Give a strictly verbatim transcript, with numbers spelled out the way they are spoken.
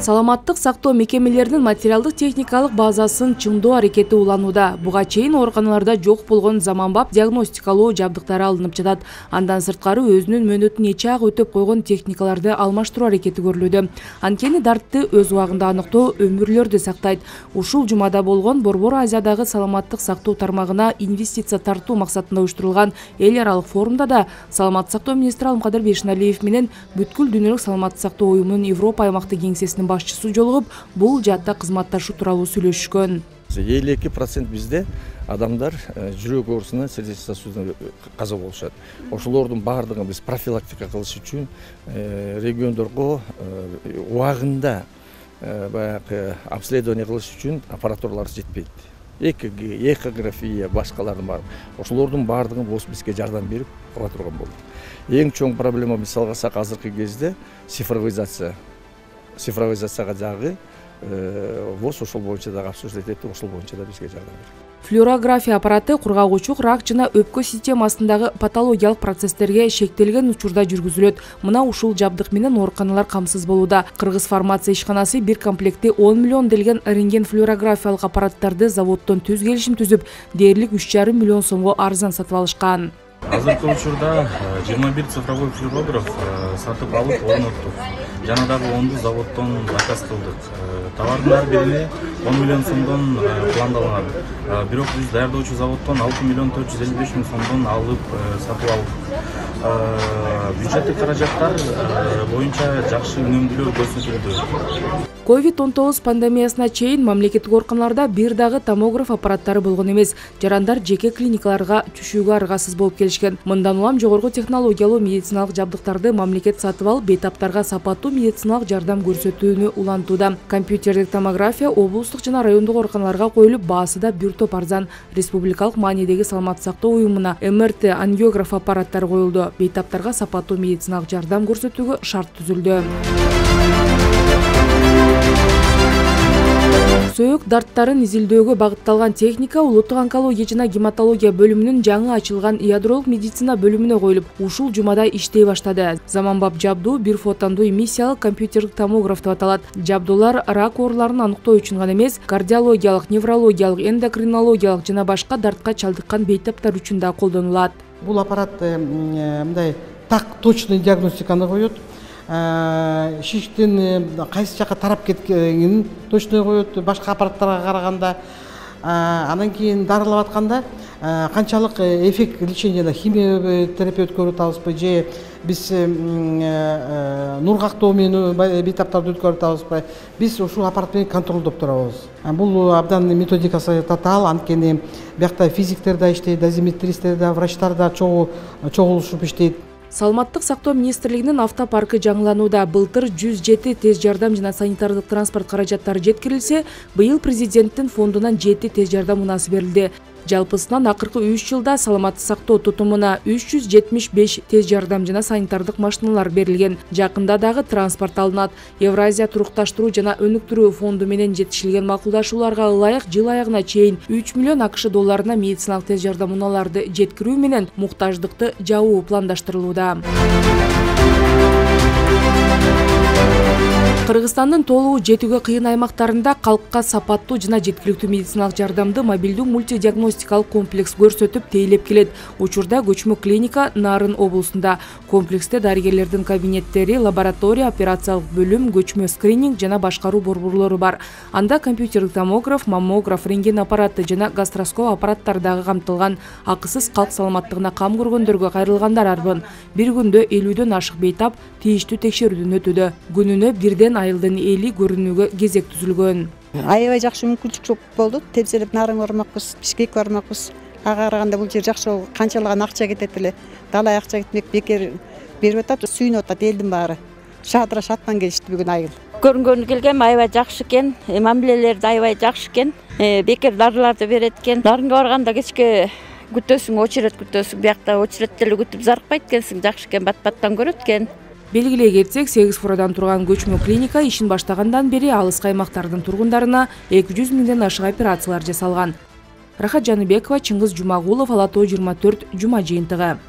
Саламаттык сактоо мекемелеринин материалдык техникалык базасын чыңдоо аракети уланууда. Буга чейин ооруканаларда жок болгон заманбап диагностикалоо жабдыктары алынып жатат. Андан сырткары өзүнүн мөөнөтүн эче ак өтөп койгон техникаларды алмаштыруу аракети көрүлүүдө. Анткени дартты өз убагында аныктоо өмүрлөрдү сактайт. Ушул жумада болгон Борбор Азиядагы саламаттык сактоо тармагына инвестиция тартуу максатында уюштурулган эл аралык форумда да саламаттык сактоо министри Алымкадыр Бейшеналиев менен бүткүл дүйнөлүк саламаттык сактоо уюмунун Европа аймактык кеңсесинин башчысы жолугуп, бул жаатта кызматташуу тууралуу сүйлөшүшкөн. элүү эки процент бизде адамдар жүрөк оорусунан, сердечный сосудунан каза болушат. Ошолордун баардыгын биз профилактика кылыш үчүн региондорго убагында баягы обследование кылыш үчүн аппаратуралар жетпейт. ЭКГ, эхография, башкалары бар. Ошолордун баардыгын ВОЗ бизге жардам берип кыла турган болду. Эң чоң проблема мисалга алсак азыркы кезде цифровизация. Цифровизацияга дагы ВОЗ ошол боюнча дагы обсуждать этип, ошол боюнча да бизге жардам берет. Флюорография аппараты кургагучу рак жана өпкө системасындагы патологиялык процесстерге шектелген учурда жүргүзүлөт. Мына ушул жабдык менен ооруканалар камсыз болууда. Кыргыз фармация ишканасы бир комплекти он миллион делген рентген флюорографиялык аппараттарды заводдон түз келишим түзүп, дээрлик үч жарым миллион сомго арзан сатып алышкан. Азыркы учурда жыйырма бир цифровой флюорограф сатып алып орноттук. Жана дагы онду заводдон заказ кылдык. Товардын ар бирине он миллион сомдон пландалган. Бирок биз даярдоочу заводдон алты миллион төрт жүз элүү беш миң сомдон алып сатып алдык. Бюджеттик каражаттар боюнча жакшы үнөмдүүлөр көрсөтүлдү. ковид он тогуз пандемиясына чейин мамлекеттик ооруканаларда бир дагы томограф аппараттары болгон эмес. Жарандар жеке клиникаларга түшүүгө аргасыз болуп келишкен. Мындан улам жогорку технологиялуу медициналык жабдыктарды мамлекет сатып алып, бейтаптарга сапаттуу медициналык жардам көрсөтүүнү улантууда. Компьютердик томография облустук жана райондук ооруканаларга коюлуп, баасы да бир топ арзан. Республикалык маанидеги саламаттык сактоо уюмуна эм эр тэ ангиограф аппараттары коюлду. Бейтаптарга сапаттуу медициналык жардам көрсөтүүгө шарт түзүлдү. Сөөк дарттарын изилдөөгө багытталган техника улуттук онкология жана гематология бөлүмүнүн жаңы ачылган ядролук медицина бөлүмүнө коюлуп, ушул жумада иштей баштады. Заманбап жабдуу бир фотондуу эмиссиялык компьютердик томограф деп аталат. Жабдуулар рак ооруларын аныктоо үчүн гана эмес, кардиологиялык, неврологиялык, эндокринологиялык жана башка дартка чалдыккан бейтаптар үчүн да колдонулат. Бул аппарат мындай так точный диагностиканы коет. Шиштин кайсы жака тарап кеткенин точно коет башка аппараттарга караганда. Андан кийин дарылап атканда канчалык эффект лечения, химия терапевт көрүп атабызбы же биз нургактоо менен бейтаптарды өткөрүп атабызбы, биз ушул аппарат менен контролдоп турабыз. Бул абдан методикасы татаал, анткени биякта физиктер да иштейт, дозиметристер да, врачтар да чогулушуп иштейт. Саламаттык сактоо министрлигинин автопаркы жаңыланууда. Былтыр жүз жети тез жардам жана санитардык транспорт каражаттары жеткирилсе, быйыл президенттин фондунан жети тез жардам унаасы берилди. Жалпысынан акыркы үч жылда саламаттык сактоо тутумуна үч жүз жетимиш беш тез жардам жана санитардык машиналар берилген. Жакында дагы транспорт алынат. Евразия турукташтыруу жана өнүктүрүү фонду менен жетишилген макулдашууларга ылайык жыл аягына чейин үч миллион акш долларына медициналык тез жардам унааларды жеткирүү менен муктаждыкты жабуу пландаштырылууда. Кыргызстандын толугу жетүүгө кыйын аймактарында калкка сапаттуу жана жеткиликтүү медициналык жардамды мобилдүү мультидиагностикалык комплекс көрсөтүп тейлеп келет. Учурда көчмө клиника Нарын облусунда. Комплексте дарыгерлердин кабинеттери, лаборатория, операциялык бөлүм, көчмө скрининг жана башкаруу борборлору бар. Анда компьютердик томограф, маммограф, рентген аппараты жана гастроскоп аппараттары дагы камтылган. Акысыз калк саламаттыгына кам көргөндөргө кайрылгандар арбын. Бир күндө элүүдөн ашык бейтап тийиштүү текшерүүдөн өтүүдө. Күнүнө бирден айылдын эли көрүнүүгө кезек түзүлгөн. Аябай жакшы мүмкүнчүлүк болду. Тепселеп Нарын бармакпыз, Бишкек бармакпыз. Ага караганда бул жер жакшы болду. Канчалаган акча кетет эле. Далай акча кетмек, бекер берип атат, сүйүнүп атат элдин баары. Шадыра шаттан келишти бүгүн айыл. Көрүнгөнү келгем аябай жакшы экен, мамилелер да аябай жакшы экен. Бекер дарыларды берет экен. Нарынга барганда кечке күтөсүң, очерет күтөсүң. Биякта очеретте эле күтүп зарыкпайт экенсиң, жакшы экен, бат-баттан көрөт экен. Белгилей кетсек, сегиз фурадан турган көчмө клиника ишин баштагандан бери алыскы аймактардын тургундарына эки жүз миңден ашык операциялар жасалган. Рахат Жаныбекова, Чыңгыз Жумагулов, Ала Тоо жыйырма төрт, Жума жыйынтыгы.